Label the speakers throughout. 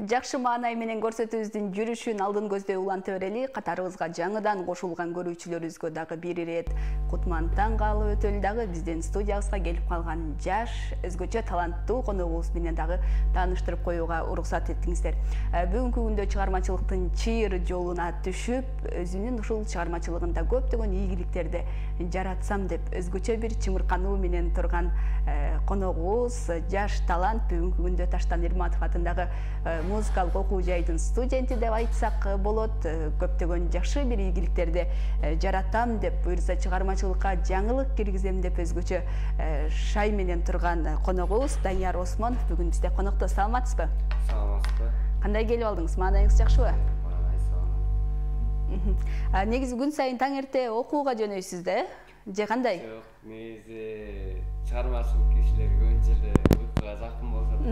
Speaker 1: Жакшы маанай менен көрсөтүүбүздүн жүрүшүн алдын көздөй уланта берели. Катарыбызга жаңыдан кошулган көрүүчүлөрүбүзгө дагы бир ирет кутмандыдан каалоо өтөлү дагы биздин студиябызга келип калган жаш, өзгөчө таланттуу коногубуз менен дагы тааныштырып коюуга уруксат этиңиздер. Бүгүнкү күндө чыгармачылыктын чыйыр жолуна түшүп, өзүнүн ушул чыгармачылыгында көптөгөн ийгиликтерди жаратсам деп өзгөчө бир чымыркануу менен турган коногубуз, жаш талант бүгүнкү күндө Таштан Ирматов атындагы музыкалык окуу жайдын студенти деп айтсак болот. Көптөгөн жакшы бир ийгиликтерди жаратам деп, буюрса чыгармачылыкка жаңылык киргизем деп өзгөчө шай менен турган коногубуз Данияр Осмонов бүгүн бизде конокто. Саламатсызбы?
Speaker 2: Саламатсызбы.
Speaker 1: Кандай келип алдыңыз? Маанайыңыз жакшыбы?
Speaker 2: Салам.
Speaker 1: Негизи күн сайын таң эрте окууга жөнөйсүз да, же кандай?
Speaker 2: Жок, негизи чыгармачылык кишилер көбүнчө эле уйкуга жакын болсо да,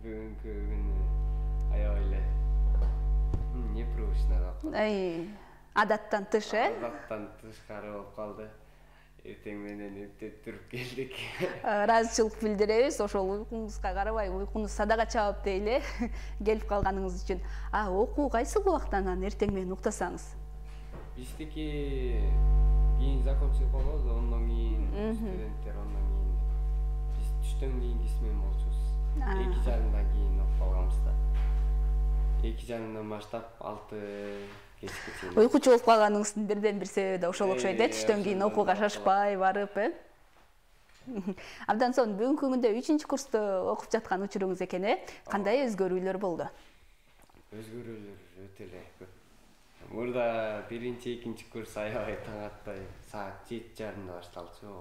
Speaker 2: бүгүнкү күнү аябай эле непривычно болуп.
Speaker 1: Адаттан тыш,
Speaker 2: Адаттан тышкары болуп калды. Эртең менен эптеп туруп келдик.
Speaker 1: Ыраазычылык билдиребиз, ошол уйкуңузга карабай, уйкуңуз садага чаап дейли, келип калганыңыз үчүн. Окуу кайсыл убактан эртең менен уктасаңыз?
Speaker 2: Биздики кийин закончилик болот, ондон кийин студенттер, ондон кийин биз түштөн кийинки смен болчубуз. 2:30 кийин окуп алганбыз да. 2:30 баштап 6 кечке чейин.
Speaker 1: Уйкучу болуп калганыңыздын бирден бир себеби да ошол окшойт, түштөн кийин окууга шашпай барып, Абдан сонун, бүгүнкү күндө 3-курсту окуп жаткан учуруңуз экен, Кандай өзгөрүүлөр болду?
Speaker 2: Өзгөрүүлөр өтө эле көп. Мурда 1-2 курс аябай таң атпай, саат 7:30 башталчу.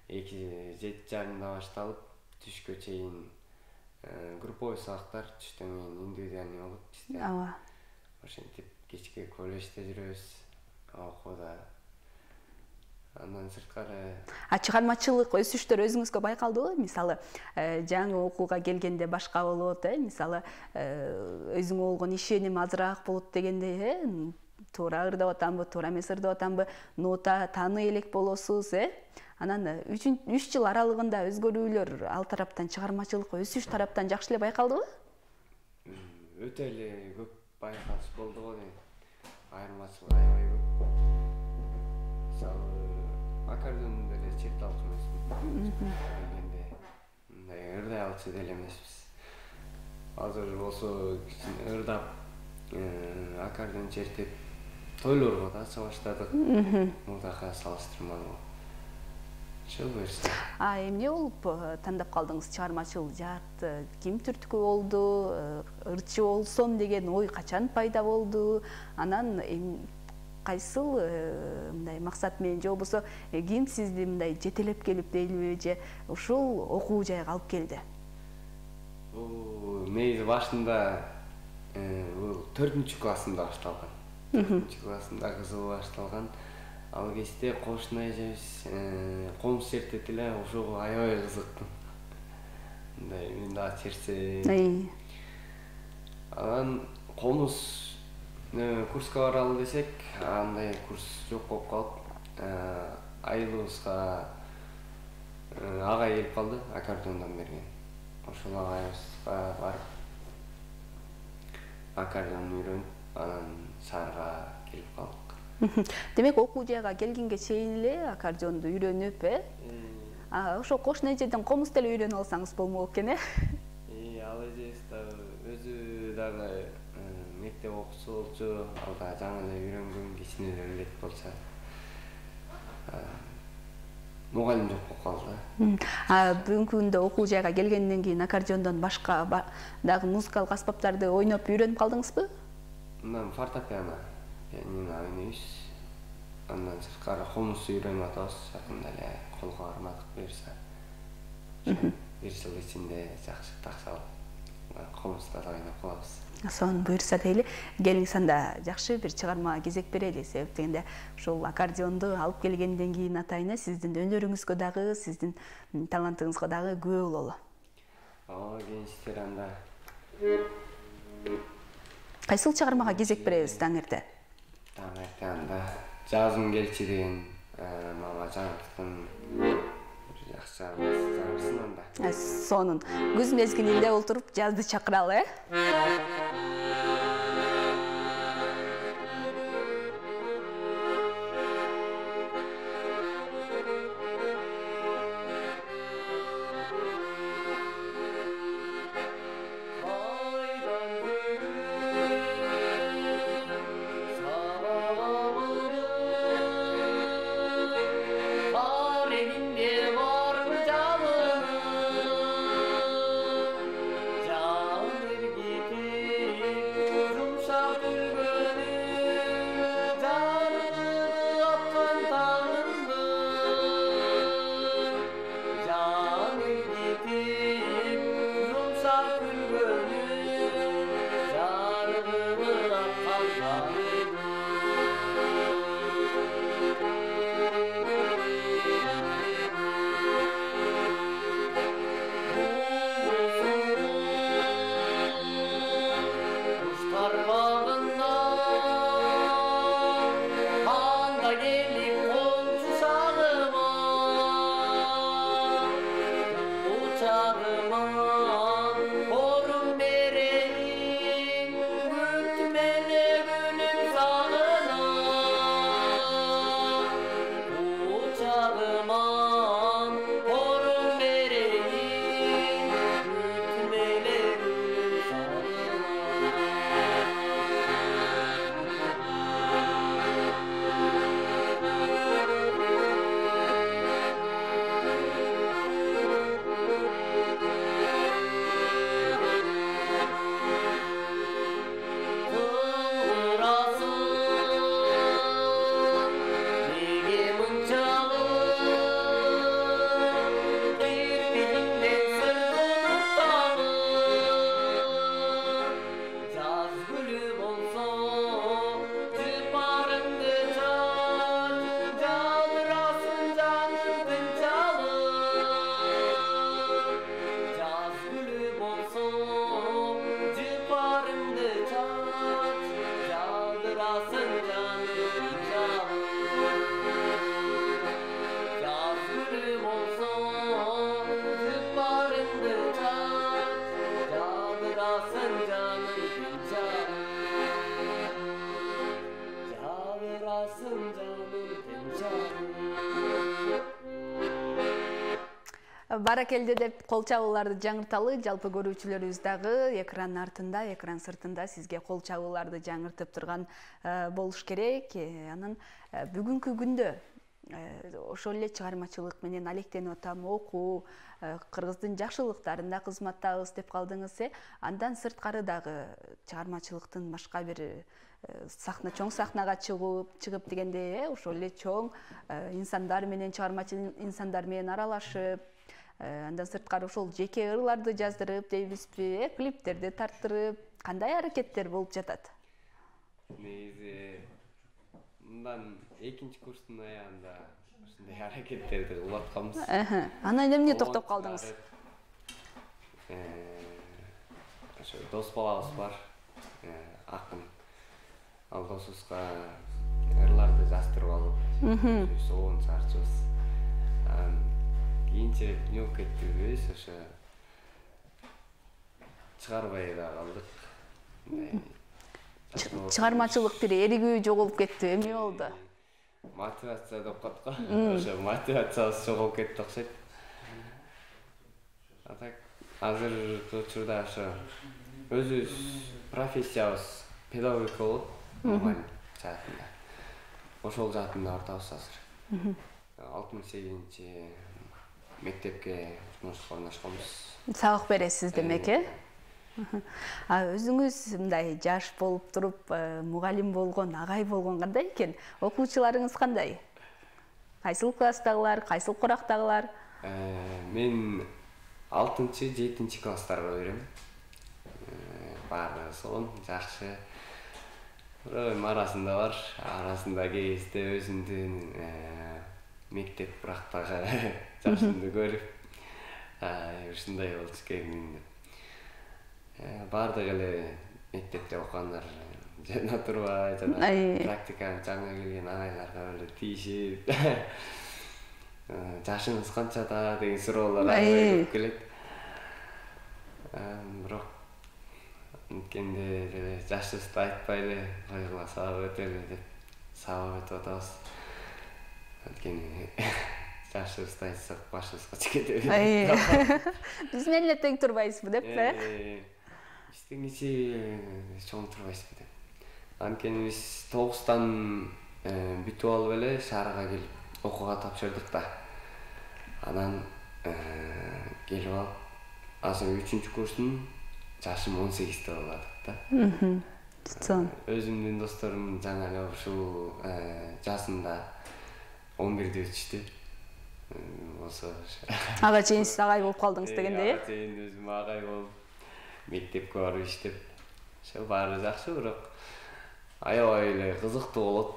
Speaker 2: 7:30 башталып, түшкө чейин групповой сабактар, түштөн кийин индивидуальный болот бизде. Ошентип кечке колледжде жүрөбүз, окууда. Андан сырткары
Speaker 1: Чыгармачылык өсүштөр өзүңүзгө байкалдыбы? Мисалы, жаңы окууга келгенде башка болот, мисалы, өзүңө болгон ишеним азыраак болот дегендей, туура ырдап атамбы, туура эмес ырдап атамбы, нота тааный элек болосуз, Анан 3 жыл аралыгында өзгөрүүлөр ал тараптан, чыгармачылык өсүш тараптан жакшы эле байкалдыбы?
Speaker 2: Өтө эле көп байкалыш болду го дейм. Айырмачылык аябай көп. Мисалы, аккордеондо эле черте алчу эмесмин. Дегенде мындай ырдай алчу деле эмеспиз. Азыр болсо ырдап, аккордеон чертип тойлорго да чыга баштадык. Мурдага салыштырмалуу. Ошол берсе.
Speaker 1: Эмне болуп тандап калдыңыз? Чыгармачыл жаат ким түрткү болду? Ырчы болсом деген ой качан пайда болду? Анан кайсыл мындай максат менен, же болбосо ким сизди мындай жетелеп келип дейлиби, же ушул окуу жайга алып келди?
Speaker 2: Бул негизи башында бул 4-классымда башталган. 4-классымда кызыгуу башталган. Ал кезде кошуна эжебиз комуз чертет эле, ошого аябай кызыктым. Мындай мен да чертсем. Анан комуз курска баралы десек, андай курс жок болуп калып, айылыбызга агай келип калды, аккордеондон берген. Ошол агайыбызга барып аккордеон үйрөнүп, анан шаарга келип калдык.
Speaker 1: Демек, окуу жайга келгенге чейин эле аккордеонду үйрөнүп, ошо кошуна эжеден комуз деле үйрөнүп алсаңыз болмок экен,
Speaker 2: Ал эжебиз дагы өзү дагы мектеп окуучусу болчу, ал да жаңы эле үйрөнгөн, кичине эле билет болчу. Мугалим жок болуп калды.
Speaker 1: Бүгүнкү күндө окуу жайга келгенден кийин аккордеондон башка дагы музыкалык аспаптарды ойноп үйрөнүп калдыңызбы?
Speaker 2: Мындан фортепиано, пианино ойнойбуз. Андан сырткары комуз үйрөнүп атабыз, жакында эле колго кармадык буюрса. Бир жыл ичинде жакшы таксалып, комузда да ойноп калабыз.
Speaker 1: Сонун буюрса дейли, келиңиз анда жакшы бир чыгарма кезек берели. Себеп дегенде, ушул аккордеонду алып келгенден кийин атайын сиздин өнөрүңүзгө дагы, сиздин талантыңызга дагы күбө бололу.
Speaker 2: Кенчтер анда.
Speaker 1: Кайсыл чыгармага кезек беребиз таң эрте?
Speaker 2: Таң эрте анда жазым келчи деген мама жаңыртын жакшы чыгармасы анда.
Speaker 1: Сонун күз мезгилинде олтуруп жазды чакыралы, баракелде деп кол чабууларды жаңырталы. Жалпы көрүүчүлөрүбүз дагы экран артында, экран сыртында сизге кол чабууларды жаңыртып турган болуш керек. Анан бүгүнкү күндө ошол эле чыгармачылык менен алектенип атам, окуу, кыргыздын жакшылыктарында кызматтабыз деп калдыңыз. Андан сырткары дагы чыгармачылыктын башка бир чоң сахнага чыгып дегенде ошол эле чоң инсандар менен, чыгармачыл инсандар менен аралашып, андан сырткары ошол жеке ырларды жаздырып дейбизби, клиптерди тарттырып, кандай аракеттер болуп жатат?
Speaker 2: Негизи мындан экинчи курстун аягында ушундай аракеттерди кылып атканбыз.
Speaker 1: Анан эмне токтоп калдыңыз?
Speaker 2: Ошо дос балабыз бар, акын. Ал досубузга ырларды жаздырып алып, сонун чыгарчубыз. Кийинчерээк эмне болуп кеттибиз, ошо чыгарбай да калдык.
Speaker 1: Чыгармачылык бир эригүү жоголуп кетти, эмне болду?
Speaker 2: Мотивация деп коет го. Ошо мотивациябыз жоголуп кетти окшойт. А так азыркы учурда ошо өзүбүз профессиябыз педагогика болот. Мугалим жаатында. Ошол жаатында ортабыз азыр. 68-чи мектепке жумушка орношконбуз.
Speaker 1: Сабак бересиз демек, Өзүңүз мындай жаш болуп туруп, мугалим болгон, агай болгон кандай экен? Окуучуларыңыз кандай? Кайсыл класстагылар, кайсыл курактагылар?
Speaker 2: Мен 6-чы, 7-чи класстарга берем. Баары сонун, жакшы. Арасында бар, арасында кезде өзүмдүн мектеп бурактагы жашымды көрүп, ушундай болчу экен деп. Баардык эле мектепте окугандар жана турбай, жана практиканы жаңы келген агайларга эле тийишип, жашыңыз канчада деген суроолор көп келет. Бирок анткенде деле жашыбызды айтпай эле койгула сабап өтөлү деп сабап өтүп атабыз. Анткени жашыбызды айтсак башыбызга чекет.
Speaker 1: Биз менен эле тең турбайсызбы деппи?
Speaker 2: Биз теңичи чоң турбайсызбы деп. Анткени биз 9-тан бүтүп алып эле шаарга келип окууга тапшырдык да. Анан келип алып азыр 3-курстун жашым 18 болдук да. Өзүмдүн досторум жаңа эле ушул жазында 11-де өтүштү. Болсо
Speaker 1: ага чейин сиз агай болуп калдыңыз дегендей.
Speaker 2: Ага чейин өзүм агай болуп, мектепке барып иштеп, ошо баары жакшы, бирок аябай эле кызыктуу болот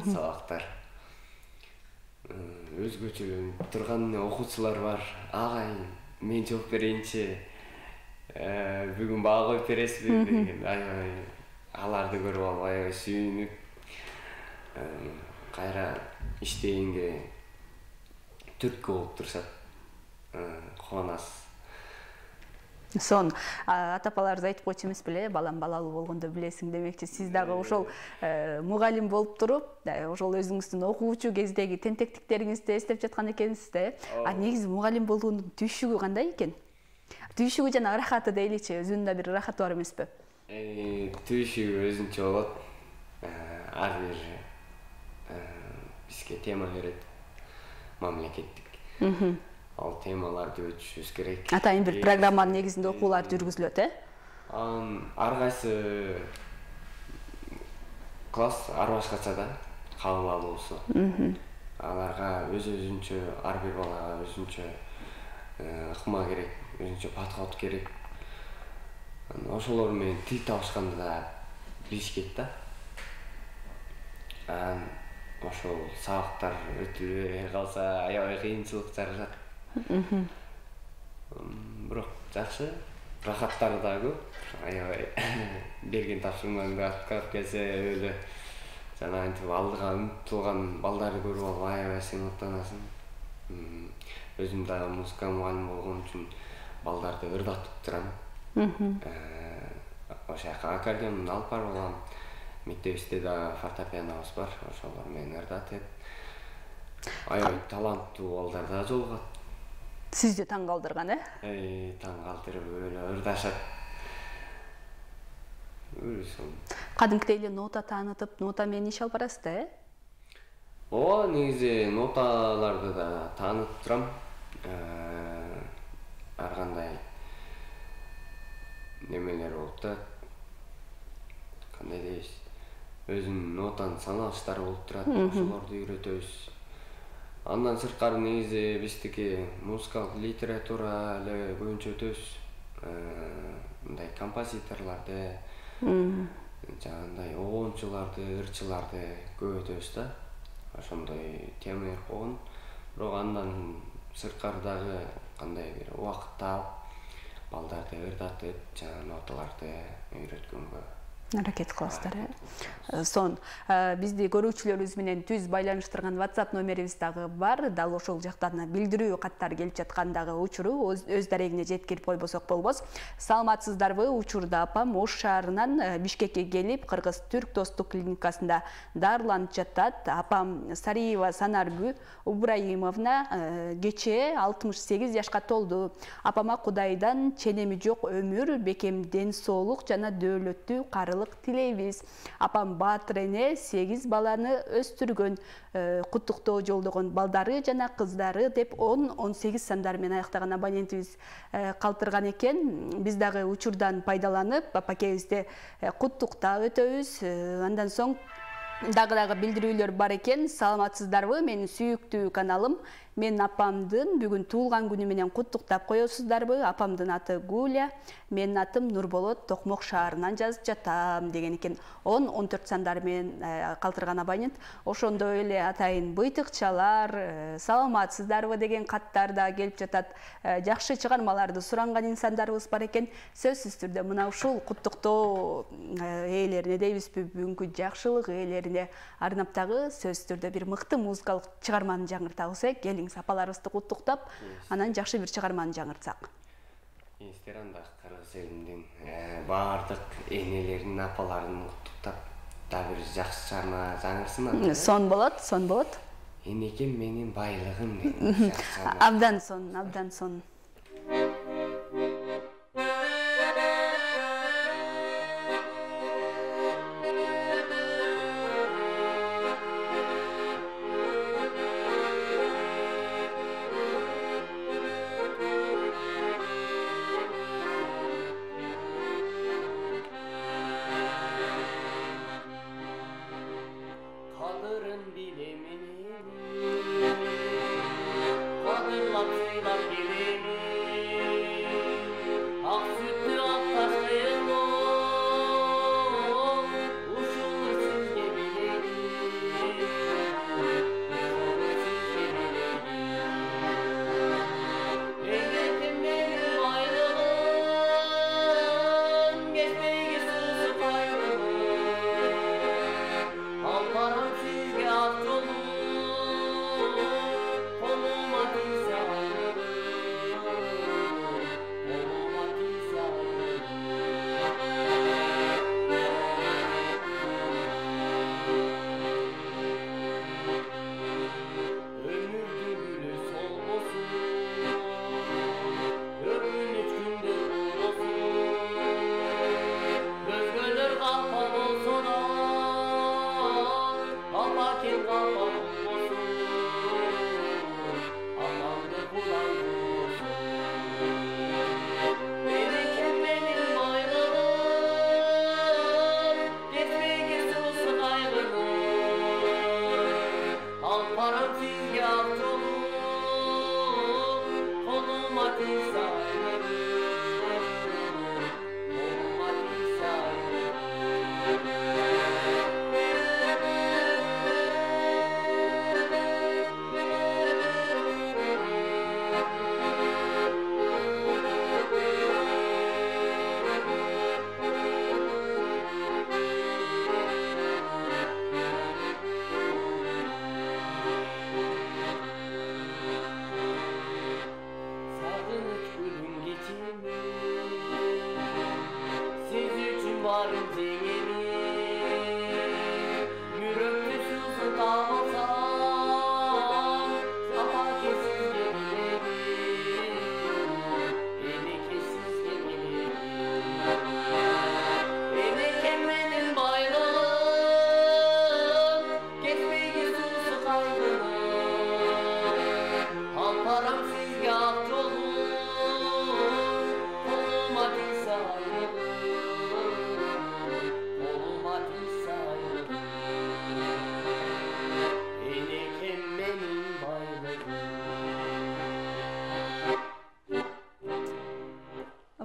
Speaker 2: сабактар. Өзгөчөлөнүп турган окуучулар бар. Агай, мен жооп берейинчи. Бүгүн баа коюп бересизби деген аябай аларды көрүп алып аябай сүйүнүп, кайра иштегенге түрткү болуп турушат. Кубанасыз.
Speaker 1: Сон ата-апаларыбыз айтып койчу эмес беле, балам балалуу болгондо билесиң демекчи. Сиз дагы ошол мугалим болуп туруп, ошол өзүңүздүн окуучу кездеги тентектиктериңизди эстеп жаткан экенсиз да. Негизи мугалим болуунун түйшүгү кандай экен? Түйшүгү жана ырахаты дейличи, өзүнүн да бир ырахаты бар эмеспи?
Speaker 2: Түйшүгү өзүнчө болот. Ар бир бизге тема берет мамлекеттик. Ал темаларды өтүшүбүз керек.
Speaker 1: Атайын бир программанын негизинде окуулар жүргүзүлөт,
Speaker 2: Ар кайсы класс ар башкача да, кабыл алуусу. Аларга өзүнчө, ар бир балага өзүнчө ыкма керек, өзүнчө подход керек. Ошолор менен тил табышканды да билишкет да. Ошол сабактар өтүлбөй калса аябай кыйынчылык жарашат. Бирок жакшы, рахаттары да көп. Аябай берген тапшырмаңды аткарып келсе өлө жана антип алдыга умтулган балдарды көрүп алып аябай сыймыктанасың. Өзүм дагы музыка мугалими болгон үчүн балдарды ырдатып турам. Ошо аккордеон алып барып алам. Мектебибизде да фортепианобуз бар, ошолор менен ырдатып. Аябай таланттуу балдар да жолугат.
Speaker 1: Сизди таң калтырган,
Speaker 2: Таң калтырып өлө ырдашат.
Speaker 1: Кадимкидей эле нота таанытып, нота менен иш алып барасыз да,
Speaker 2: Ооба, негизи ноталарды да таанытып турам. Ар кандай немелер болуп да, кандай дейбиз, өзүнүн нотаны саналыштары болуп турат, ошолорду үйрөтөбүз. Андан сырткары негизи биздики музыкалык литература эле көбүнчө өтөбүз. Мындай композиторлорду, жагандай обончуларды, ырчыларды көп өтөбүз да. Ошондой тема болгон. Бирок андан сырткары дагы кандай бир убакыт таап, балдарды ырдатып, жана ноталарды үйрөткөнгө
Speaker 1: аракет кыласыздар. Сон бизди көрүүчүлөрүбүз менен түз байланыштырган WhatsApp номерибиз дагы бар. Дал ошол жактан билдирүү каттар келип жаткан дагы учуру өз дарегине жеткирип койбосок болбос. Саламатсыздарбы? Учурда апам Ош шаарынан Бишкекке келип, Кыргыз-Түрк достук клиникасында дарыланып жатат. Апам Сариева Санарбү Ибраимовна кечээ 68 жашка толду. Апама Кудайдан ченеми жок өмүр, бекем ден соолук жана дөөлөттүү карылык тилейбиз. Апам баатыр эне 8 баланы өстүргөн, куттуктоо жолдогон балдары жана кыздары деп 10-18 сандар менен аяктаган абонентибиз калтырган экен. Биз дагы учурдан пайдаланып апакебизди куттуктап өтөбүз. Андан соң дагы билдирүүлөр бар экен. Саламатсыздарбы? Менин сүйүктүү каналым. Мен апамдын бүгүн туулган күнү менен куттуктап коесуздарбы? Апамдын аты Гуля, менин атым Нурболот, Токмок шаарынан жазып жатам деген экен. 10-14 сандар менен калтырган абонент. Ошондой эле атайын быйтыкчалар, саламатсыздарбы деген каттар да келип жатат. Жакшы чыгармаларды суранган инсандарыбыз бар экен. Сөзсүз түрдө мына ушул куттуктоо ээлерине дейбизби, бүгүнкү жакшылык ээлерине арнап дагы сөзсүз түрдө бир мыкты музыкалык чыгарманы жаңыртабыз. Келиңиз апаларыбызды куттуктап, анан жакшы бир чыгарманы жаңыртсак.
Speaker 2: Инстаграмда кыргыз элимдин баардык энелерин, апаларын куттуктап дагы бир жакшы чыгарма жаңырсын анда.
Speaker 1: Сон болот.
Speaker 2: Энекем менин байлыгым деген жакшы чыгарма.
Speaker 1: Абдан сон.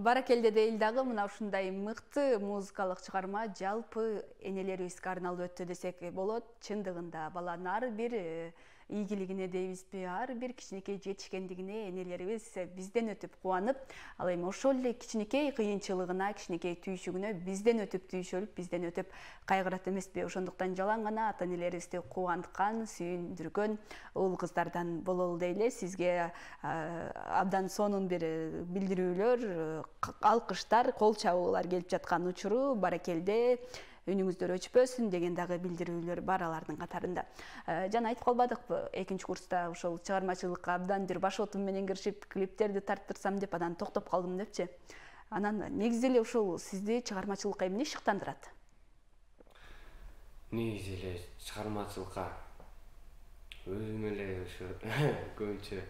Speaker 1: Баракелде дейл дагы мына ушундай мыкты музыкалык чыгарма жалпы энелерибизге арналып өттү десек болот. Чындыгында баланын ар бир ийгилигине дейбизби, ар бир кичинекей жетишкендигине энелерибиз бизден өтүп кубанып, ал эми ошол эле кичинекей кыйынчылыгына, кичинекей түйшүгүнө бизден өтүп түйшөлүп, бизден өтүп кайгырат эмеспи? Ошондуктан жалаң гана ата энелерибизди кубанткан, сүйүндүргөн уул кыздардан бололу дейле. Сизге абдан сонун бир билдирүүлөр, алкыштар, кол чабуулар келип жаткан учуру баракелде, үнүңүздөр өчпөсүн деген дагы билдирүүлөр бар алардын катарында. Жана айтып калбадыкпы, экинчи курста ошол чыгармачылыкка абдан бир башотум менен киришип, клиптерди тарттырсам деп анан токтоп калдым депчи. Анан негизи эле ушул сизди чыгармачылыкка эмне шыктандырат?
Speaker 2: Негизи эле чыгармачылыкка өзүм эле ушу көбүнчө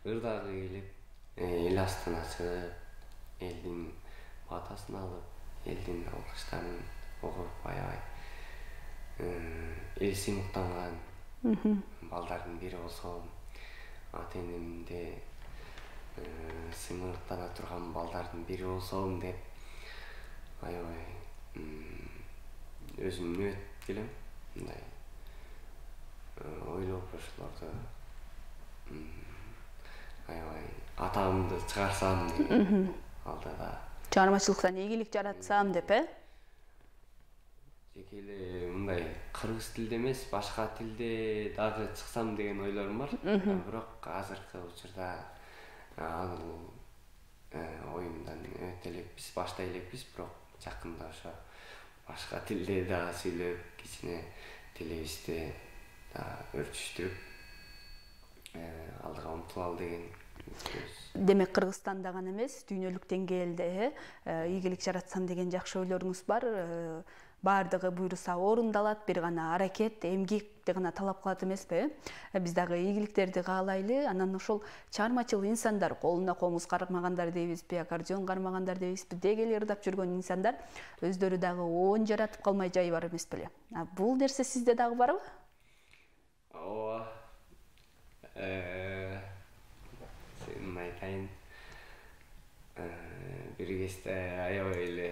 Speaker 2: ырдагы келип, эл астына чыгып, элдин батасын алып, элдин алкыштарын угуп, аябай эл сыймыктанган балдардын бири болсом, ата энемде сыймыктана турган балдардын бири болсом деп аябай өзүмдүн өтүп келем. Мындай ойлоп ошолорду аябай атагымды чыгарсам деген алдыда.
Speaker 1: Чыгармачылыктан ийгилик жаратсам деп,
Speaker 2: Жеке эле мындай кыргыз тилде эмес, башка тилде дагы чыксам деген ойлорум бар. Бирок азыркы учурда ал оюндан өтө элекпиз, баштай элекпиз, бирок жакында ошо башка тилде дагы сүйлөп, кичине тилибизди дагы өрчүштүрүп алдыга умтулалы деген.
Speaker 1: Демек Кыргызстанда гана эмес, дүйнөлүк деңгээлде ийгилик жаратсам деген жакшы ойлоруңуз бар. Баардыгы буйруса орундалат, бир гана аракет, эмгекти гана талап кылат эмеспи? Биз дагы ийгиликтерди каалайлы. Анан ошол чыгармачыл инсандар, колуна комуз кармагандар дейбизби, аккордеон кармагандар дейбизби, дегеле ырдап жүргөн инсандар өздөрү дагы оон жаратып калмай жайы бар эмес беле? Бул нерсе сизде дагы барбы?
Speaker 2: Ооба. Сен айтайын. Бир кезде аябай эле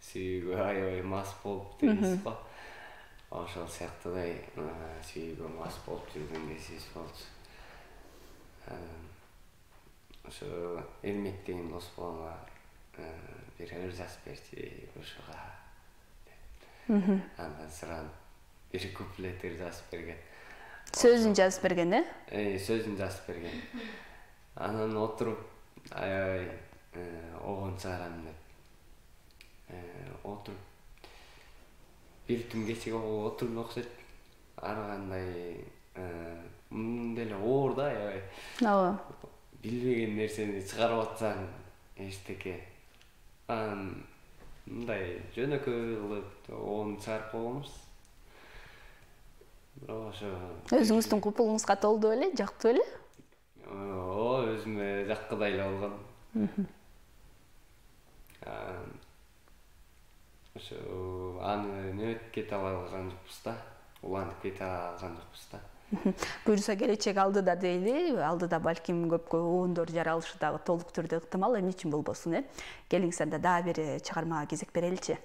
Speaker 2: сүйүүгө аябай мас болуп дейбиз го. Ошол сыяктуудай сүйүүгө мас болуп жүргөн кезибиз болчу. Ошо Эрмек деген дос балама бир ыр жазып берчи ушуга деп. Андан суранып бир куплет ыр жазып берген.
Speaker 1: Сөзүн жазып берген,
Speaker 2: Сөзүн жазып берген. Анан отуруп аябай огон чыгарам деп отуруп бир түн кечеге отурган окшойт. Ар кандай мындан деле оор да аябай.
Speaker 1: Ооба.
Speaker 2: Билбеген нерсени чыгарып атсаң эчтеке. Мындай жөнөкөй кылып огон чыгарып койгонбуз. Бирок ошо
Speaker 1: Өзүңүздүн купулуңузга толду беле, жактуу беле?
Speaker 2: Ооба, өзүмө жаккыдай эле болгон. Ошо аны нөт кете алган жокпуз да, улантып кете алган жокпуз да.
Speaker 1: Буюрса келечек алдыда дейли, алдыда балким көпкө оондор жаралышы дагы толук түрдө ыктымал, эмне үчүн болбосун, Келиңиз анда дагы бир чыгармага кезек береличи.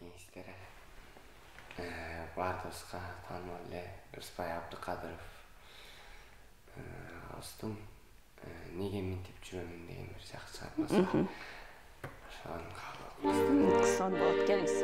Speaker 2: Кеңештер бардыбызга таанымал эле Рыспай Абдыкадыров Астын неге минтип жүрөмүн деген бир жакшы чыгармасы. Ошону
Speaker 1: Сон болот, келиңиз.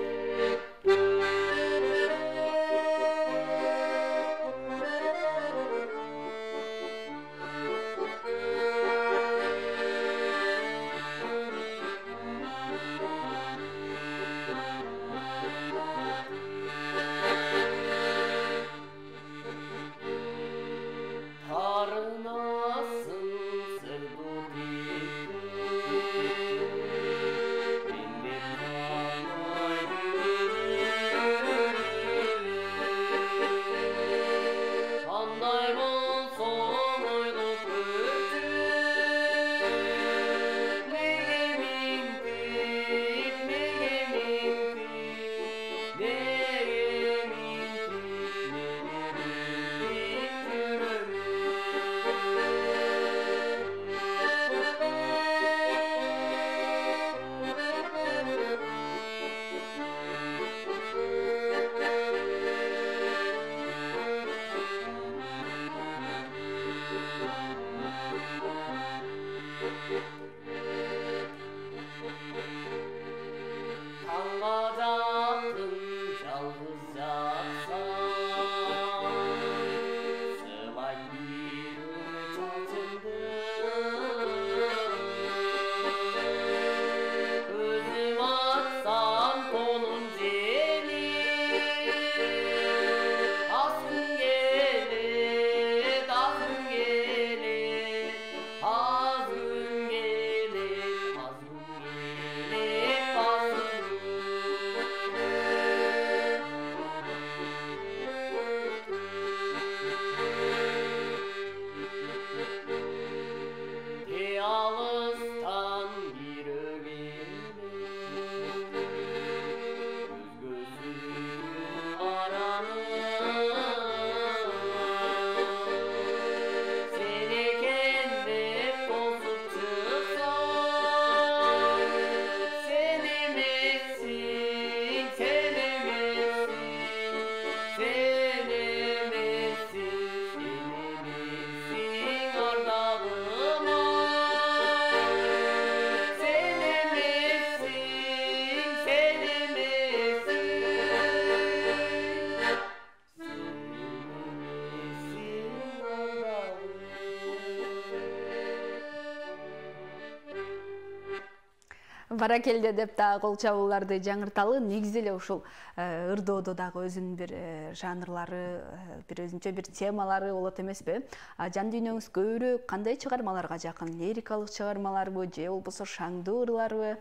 Speaker 1: Баракелде деп дагы кол чабууларды жаңырталы. Негизи эле ушул ырдоодо дагы өзүнүн бир жанрлары, бир өзүнчө бир темалары болот эмеспи? Жан дүйнөңүз көбүрөөк кандай чыгармаларга жакын? Лирикалык чыгармаларбы же болбосо шаңдуу ырларбы?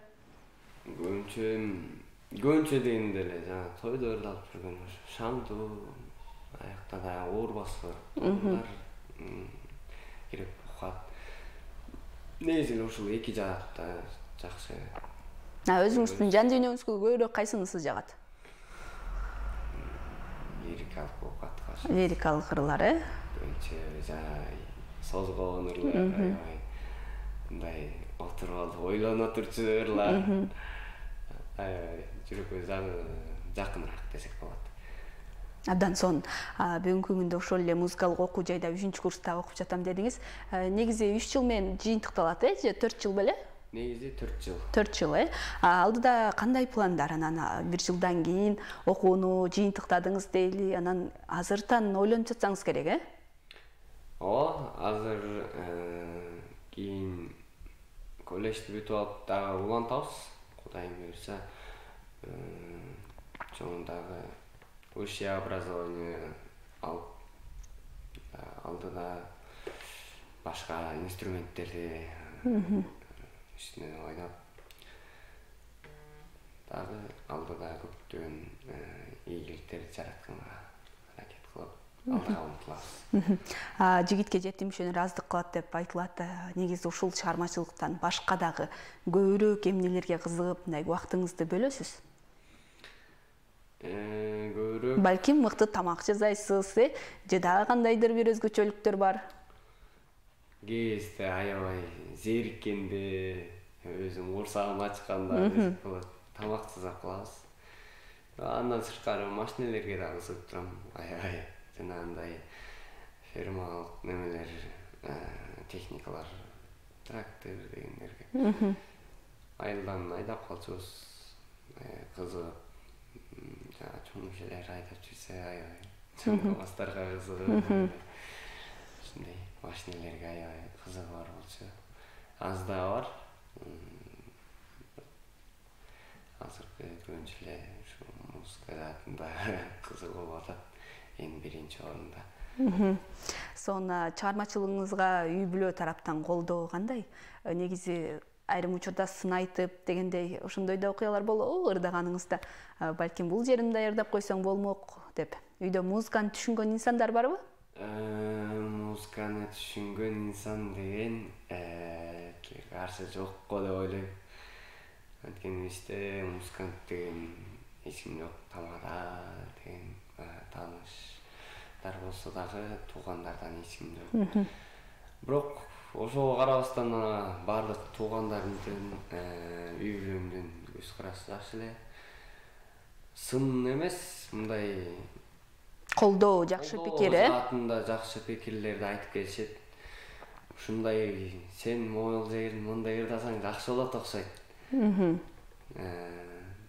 Speaker 2: Көбүнчө дегенде эле жана тойдо ырдалып жүргөн шаңдуу, аякта да оор баскы ырлар кирип укат. Негизи эле ушул эки жаатта жакшы.
Speaker 1: Өзүңүздүн жан дүйнөңүзгө көбүрөөк кайсынысы жагат?
Speaker 2: Лирикалык укат.
Speaker 1: Лирикалык ырлар,
Speaker 2: Көбүнчө созгоон ырлар, мындай отуруп алып ойлоно турчу ырлар. Жүрөккө жакыныраак десек болот.
Speaker 1: Абдан сонун. Бүгүнкү күндө ошол эле музыкалык окуу жайда 3-курста окуп жатам дедиңиз. Негизи 3 жыл менен жыйынтыкталат, же 4 жыл беле?
Speaker 2: Негизи 4 жыл.
Speaker 1: 4 жыл, Алдыда кандай пландар? Анан 1 жылдан кийин окууну жыйынтыктадыңыз дейли, анан азыртан ойлонуп жатсаңыз керек,
Speaker 2: Ооба, азыр кийин колледжди бүтүп алып дагы улантабыз. Кудайым буйрса, чоңундагы высшее образование алып, алдыда башка инструменттерди үстүнө ойноп, дагы алдыда көптөгөн ийгиликтерди жаратканга аракет кылып, алдыга умтулабыз.
Speaker 1: Жигитке жетимишөөнөр аздык кылат деп айтылат. Негизи ушул чыгармачылыктан башка дагы көбүрөөк эмнелерге кызыгып, мындай убактыңызды бөлөсүз?
Speaker 2: Көбүрөөк
Speaker 1: Балким мыкты тамак жасайсыз, же дагы кандайдыр бир өзгөчөлүктөр бар?
Speaker 2: Кезде аябай зериккенде, өзүм курсагым ачканда тамак жасап калабыз. Андан сырткары машинелерге да кызыгып турам. Аябай жанагындай фермалык немелер, техникалар, трактор дегендерге. Айылдан айдап калчубуз, кызыгып, чоң кишилер айдап жүрсө аябай, чоң мастарга кызыгып, ушундай машинелерге аябай кызыгы бар болчу. Аз да бар. Азыркы көбүнчө эле ушу музыка жаатында кызыгуу болуп атат. Эң биринчи орунда.
Speaker 1: Сонун чыгармачылыгыңызга үй бүлө тараптан колдоо кандай? Негизи айрым учурда сын айтып дегендей ошондой да окуялар болобу ырдаганыңызда? Балким бул жеримди даярдап койсоң болмок деп. Үйдө музыканы түшүнгөн инсандар барбы?
Speaker 2: Музыканы түшүнгөн инсан деген каршы жок го деп ойлойм. Анткени бизде музыкант деген эч ким жок. Тамада деген тааныштар болсо дагы туугандардан эч ким жок. Бирок ошого карабастан баардык туугандарымдын, үй бүлөмдүн көз карашы жакшы эле. Сын эмес, мындай
Speaker 1: Колдоо, жакшы пикир,
Speaker 2: Заатында жакшы пикирлерди айтып келишет. Ушундай сен могул жерин мындай ырдасаң жакшы болот окшойт.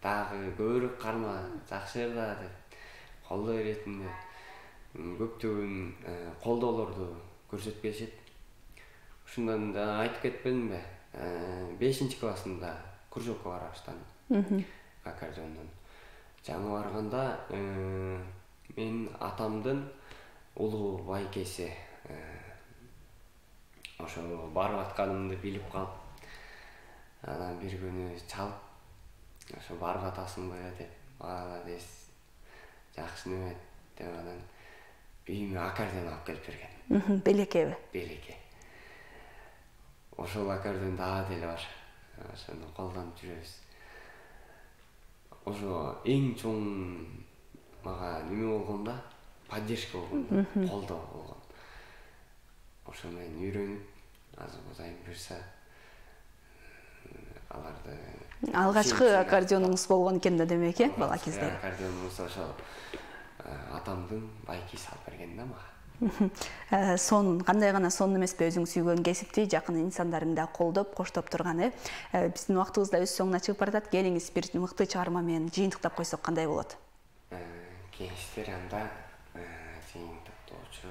Speaker 2: Дагы көбүрөөк карма, жакшы ырда деп колдоо иретинде көптөгөн колдоолорду көрсөтүп келишет. Ушундан айтып кетпедимби? 5-классында кружокко бара баштадым. Аккордеондон. Жаңы барганда мен атамдын улуу байкеси ошо барып атканымды билип калып, анан бир күнү чалып, ошо барып атасыңбы деп, дес, жакшы неме деп анан үйүмө аккордеон алып келип берген.
Speaker 1: Белекеби?
Speaker 2: Белеке. Ошол аккордеон дагы деле бар. Ошону колдонуп жүрөбүз. Ошо эң чоң мага неме болгон да, поддержка болгон, колдоо болгон. Ошо менен үйрөнүп, азыр Кудайым буйрса, аларды
Speaker 1: алгачкы аккордеонуңуз болгон экен да демек, бала кезде.
Speaker 2: Аккордеонубуз ошо атамдын байкеси алып берген да мага.
Speaker 1: Сонун, кандай гана сонун эмеспи өзүң сүйгөн кесипти жакын инсандарың да колдоп, коштоп турган, Биздин убактыбыз да өз соңуна чыгып баратат. Келиңиз бир мыкты чыгарма менен жыйынтыктап койсок кандай болот?
Speaker 2: Кеңештер анда жыйынтыктоочу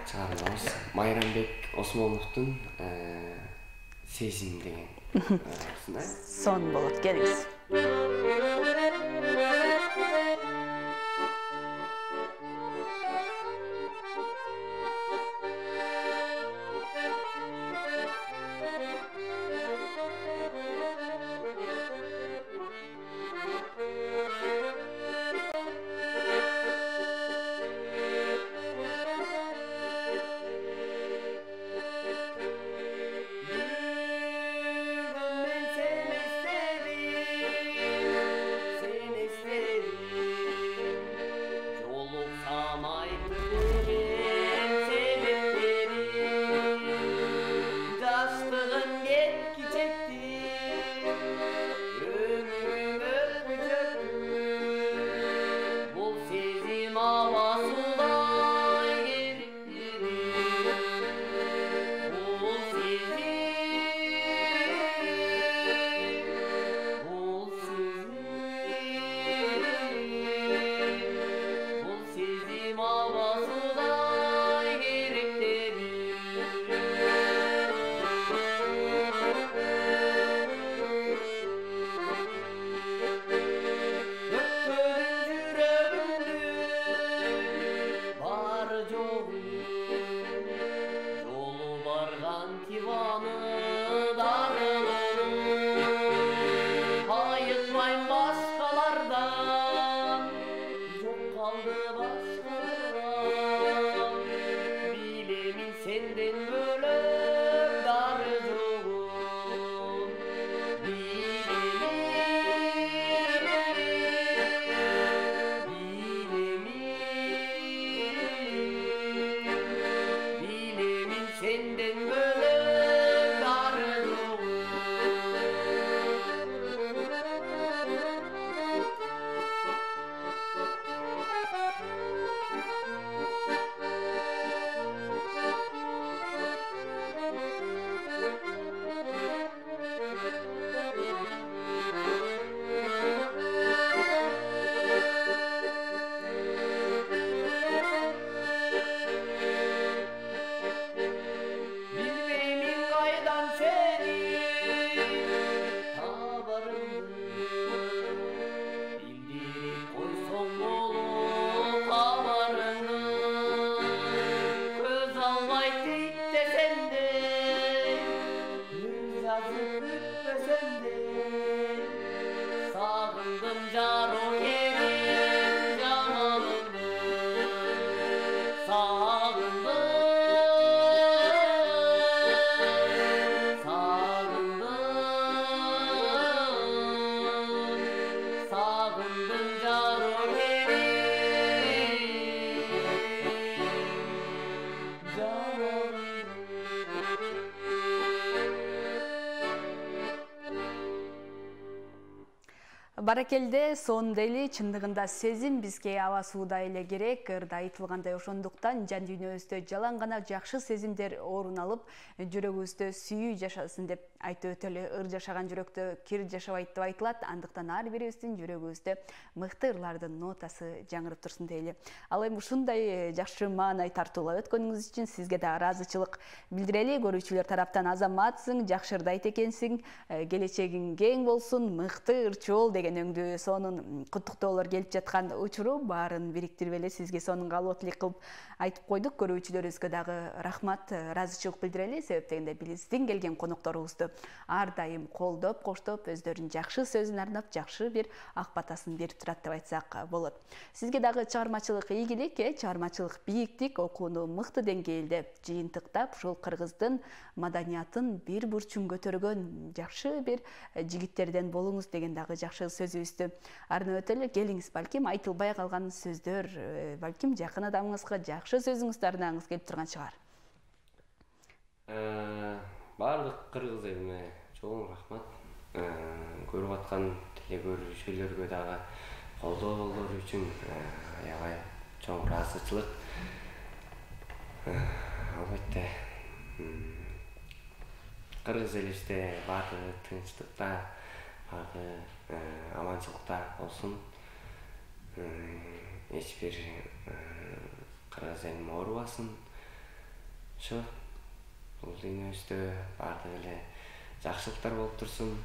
Speaker 2: чыгармабыз Майрамбек Осмоновдун Сезим деген
Speaker 1: Сон болот, келиңиз. Баракелде, сонун эли, чындыгында сезим бизге аба сууда эле керек. Ырда айтылгандай, ошондуктан жан дүйнөбүздө жалаң гана жакшы сезимдер орун алып, жүрөгүбүздө сүйүү жашасын деп айтып өтөлү. Ыр жашаган жүрөктө кир жашабайт деп айтылат. Андыктан ар бирибиздин жүрөгүбүздө мыкты ырлардын нотасы жаңырып турсун дейли. Ал эми ушундай жакшы маанай тартуулап өткөнүңүз үчүн сизге да ыраазычылык билдирели. Көрүүчүлөр тараптан азаматсың, жакшы ырды айт экенсиң, келечегиң кең болсун, мыкты ырчы бол деген өңдүү сонун куттуктоолор келип жаткан учуру баарын бириктирип эле сизге сонун каалоо тилек кылып айтып койдук. Көрүүчүлөрүбүзгө дагы рахмат, ыраазычылык билдирели. Себеп дегенде биздин келген конокторубузду ар дайым колдоп, коштоп, өздөрүнүн жакшы сөзүн арнап, жакшы бир ак батасын берип турат деп айтсак болот. Сизге дагы чыгармачылык ийгилик, чыгармачылык бийиктик, окууну мыкты деңгээлде жыйынтыктап, ушул кыргыздын маданиятын бир бурчун көтөргөн жакшы бир жигиттерден болуңуз деген дагы жакшы сөзүбүздү арнап өтөлү. Келиңиз, балким айтылбай калган сөздөр, балким жакын адамыңызга жакшы сөзүңүздү арнагыңыз келип турган чыгар.
Speaker 2: Баардык кыргыз элине чоң рахмат. Көрүп аткан телекөрүүчүлөргө дагы колдоолор үчүн аябай чоң ыраазычылык. Албетте кыргыз элибизде баардыгы тынчтыкта, баардыгы аманчылыкта болсун. Эч бир кыргыз элим оорубасын. Ошо бул дүйнөбүздө баардыгы эле жакшылыктар болуп турсун.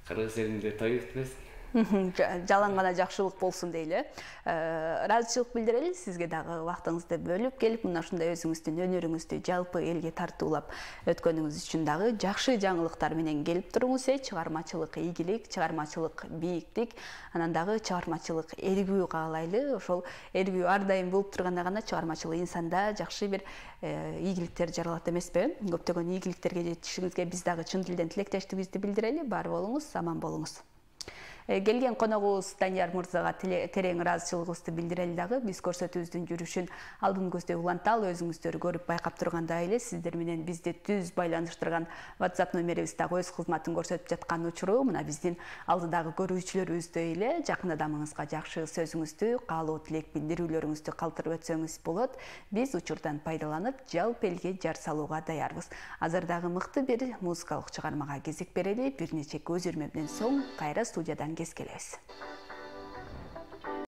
Speaker 2: Кыргыз элинде той өтпөсүн.
Speaker 1: Жалаң гана жакшылык болсун дейли. Ыраазычылык билдирели сизге дагы убактыңызды бөлүп келип, мына ушундай өзүңүздүн өнөрүңүздү жалпы элге тартуулап өткөнүңүз үчүн дагы жакшы жаңылыктар менен келип туруңуз. Чыгармачылык ийгилик, чыгармачылык бийиктик, анан дагы чыгармачылык эргүү каалайлы. Ошол эргүү ар дайым болуп турганда гана чыгармачыл инсанда жакшы бир ийгиликтер жаралат эмеспи? Көптөгөн ийгиликтерге жетишиңизге биз дагы чын дилден тилектештигибизди билдирели. Бар болуңуз, аман болуңуз. Келген коногубуз Данияр мырзага терең ыраазычылыгыбызды билдирели дагы. Биз көрсөтүүбүздүн жүрүшүн алдын көздөй уланталы, өзүңүздөр көрүп байкап тургандай эле сиздер менен бизди түз байланыштырган WhatsApp номерибиз дагы өз кызматын көрсөтүп жаткан учуру мына биздин алдыдагы көрүүчүлөрүбүздөй эле жакын адамыңызга жакшы сөзүңүздү, каалоо тилек билдирүүлөрүңүздү калтырып өтсөңүз болот. Биз учурдан пайдаланып жалпы элге жар салууга даярбыз. Азыр дагы мыкты бир музыкалык чыгармага кезек берели. Бир нече көз ирме менен соң кайра студиядан кез келебиз.